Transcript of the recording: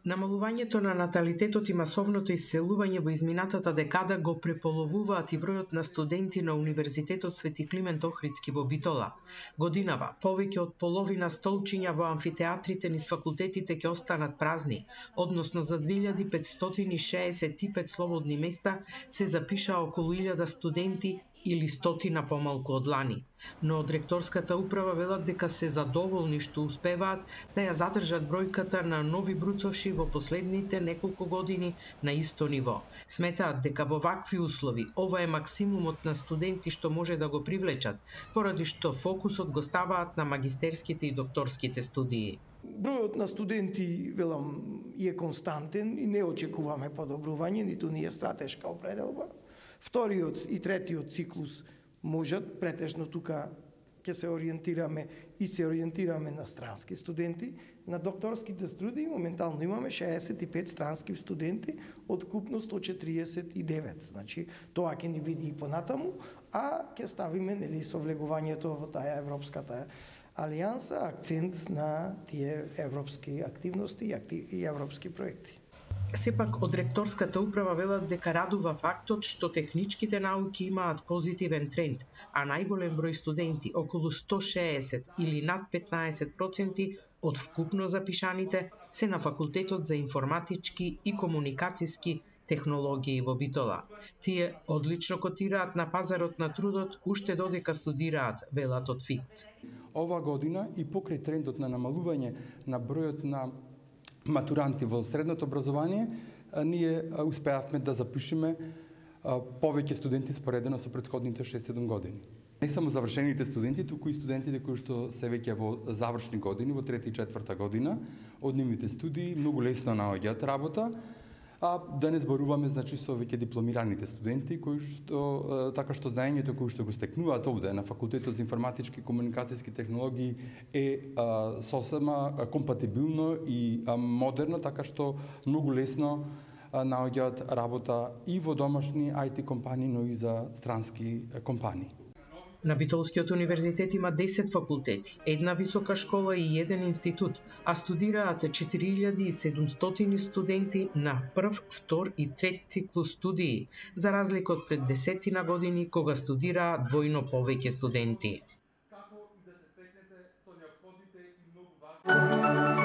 Намалувањето на наталитетот и масовното исселување во изминатата декада го преполовуваат и бројот на студенти на Универзитетот Свети Климент Охридски во Битола. Годинава, повеќе од половина столчиња во амфитеатрите низ факултетите ќе останат празни, односно за 2565 слободни места се запишаа околу 1000 студенти или 100 помалку од лани. Но од ректорската управа велат дека се задоволни што успеваат да ја задржат бројката на нови бруцоши во последните неколку години на исто ниво. Сметаат дека во вакви услови ова е максимумот на студенти што може да го привлечат, поради што фокусот го ставаат на магистерските и докторските студии. Бројот на студенти, велам, е константен и не очекуваме подобрување, ниту ни е стратешка определба. Вториот и третиот циклус можат, претежно тука ќе се ориентираме на странски студенти. На докторските студии моментално имаме 65 странски студенти од купно 149. Значи, тоа ќе ни види и понатаму, а ќе ставиме со влегувањето во таа европската алијанса акцент на тие европски активности и европски проекти. Сепак, од ректорската управа велат дека радува фактот што техничките науки имаат позитивен тренд, а најголем број студенти, околу 160 или над 15% од вкупно запишаните, се на Факултетот за информатички и комуникацијски технологии во Битола. Тие одлично котираат на пазарот на трудот уште додека студираат, велат од ФИТ. Ова година и покрај трендот на намалување на бројот на матуранти во средното образование, ние успеавме да запишеме повеќе студенти споредено со претходните 6-7 години. Не само завршените студенти, туку и студентите кои што се веќе во завршни години, во 3 и 4 година, од нивните студии многу лесно наоѓаат работа, а да не зборуваме со веќе дипломираните студенти кои што така што знаењето кои што го стекнуваат овде на Факултетот за информатички и комуникацијски технологии е сосема компатибилно и модерно, така што многу лесно наоѓаат работа и во домашни IT компании, но и за странски компании. На Битолскиот универзитет има 10 факултети, една висока школа и еден институт, а студираат 4700 студенти на прв, втор и трет циклус студии, за разлика од пред 10 години кога студираа двојно повеќе студенти. Како и да се стекнете со неопходните и многу важни